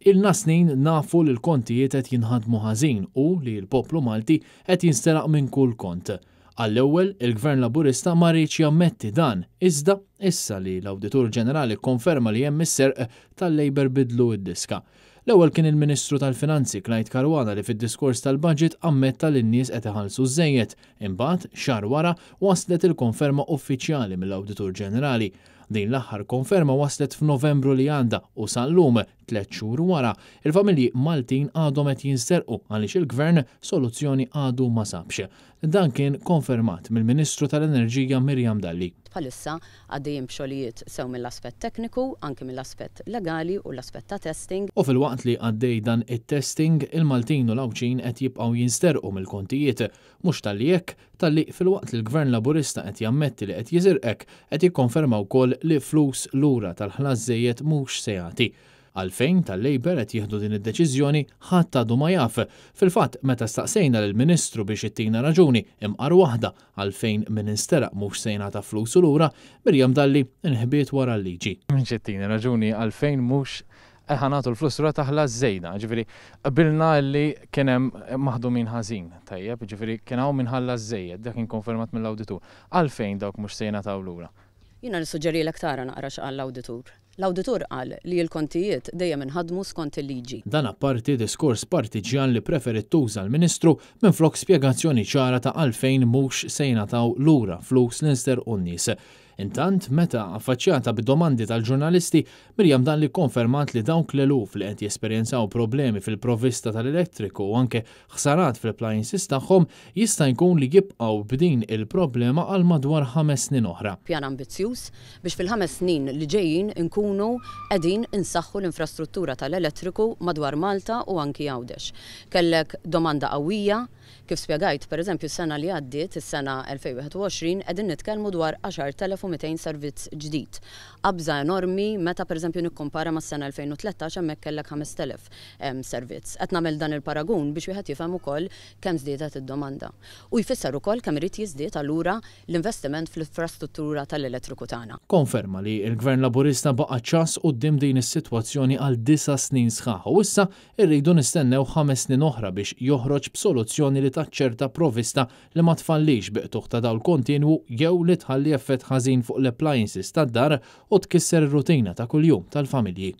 Ilna snin nafu li l-kontijiet qed jinħadmu ħażin u li l-poplu Malti qed jinsteraq minn kull kont. Għall-ewwel, il-Gvern Laburista ma riedx jammetti dan, iżda issa li l-Awditur Ġenerali kkonferma li hemm is-serq, tal-Labour bidlu d-diska. L-ewwel kien il-Ministru tal-Finanzi Clyde Caruana li fid-diskors tal-Budget ammetta li n-nies qed iħallsu żżejjed, imbagħad, xahar wara, waslet il-konferma uffiċjali mill-Awditur Ġenerali. Din l-aħħar konferma waslet f'Novembru li għadda u sal-lum, tlett xhur wara, il-familji Maltin għadhom qed jinsterqu għaliex il-Gvern soluzzjoni għadu ma sabx. Dan kien konfermat mill-Ministru tal-Enerġija Miriam Dalli. Bħalissa għaddejjin b'xogħlijiet sew mill-aspett tekniku, anki mill-aspett legali u l-aspett ta' testing. U filwaqt li għaddej dan it-testing, il-Maltin u l-Għawdxin qed jibqgħu jinsterqu mill-kontijiet. Mhux talli hekk, talli filwaqt li l-Gvern Laburista qed jammetti li qed jiżirqek, qed jikkonferma wkoll li flus lura tal-ħlas żejjed mhux se jagħti. Għalfejn tal-Labour qed jieħdu din id-deċiżjoni ħadd għadu ma jaf. Fil-fatt, meta staqsejna lill-Ministru biex ittina raġuni, imqar waħda, għalfejn min insteraq mhux se jingħata flusu lura, Miriam Dalli nħbiet wara l-liġi. Mhix ittini raġuni għalfejn mhux ħa nagħtu l-flus lura ta' ħlas żejda. Jiġifieri qbilna li kien hemm maħdumin ħażin, tajjeb, jiġifieri kien hawn min ħallas żejjed, dak kien konfermat mill-awditur. Għalfejn dawk mhux se jingħataw lura? Jiena nissuġġerilek tara naqra x'qal l-awditur. L-awditur qal li l-kontijiet dejjem inħadmu skont il-liġi. Dan apparti diskors partiġġjan li preferiet tuża l-Ministru minflok spjegazzjoni ċara ta' għalfejn mhux se jingħataw lura flus li nsterqu n-nies. Intant, meta affaċċjata bid-domandi tal-ġurnalisti, Miriam Dalli kkonfermat li dawk l-eluf li qed jesperjenzaw problemi fil-provvista tal-elettriku u anke ħsarat fl-appliances tagħhom jista' jkun li jibqgħu b'din il-problema għal madwar ħames snin oħra. Pjan ambizzjuż biex fil-ħames snin li ġejjin inkunu qegħdin insaħħu l-infrastruttura tal-elettriku madwar Malta u anki Għawdex. Kellek domanda qawwija Kif spjegajt, pereżempju s-sena li għaddiet, is-sena 2021, qegħdin nitkellmu dwar 10,200 servizz ġdid. Qabża enormi meta pereżempju nikkumpara mas-sena 2013 hemmhekk kellek 5,000 servizz. Qed nagħmel dan il-paragun biex wieħed jifhem ukoll kemm żdiedet id-domanda. U jfisser ukoll kemm irid jiżdied allura l-investiment fl-infrastruttura tal-elettriku tagħna. Konferma li l-Gvern Laburista baqa' ċass quddiem din is-sitwazzjoni għal disa' snin sħaħ u issa Irridu nistennew ħames snin oħra biex joħroġ b'soluzzjoni li taċċerta provvista li ma tfallix bi qtugħ ta' dawl kontinwu jew li tħalli effett ħażin fuq l-appliances tad-dar u tkisser ir-rutina ta' kuljum tal-familji.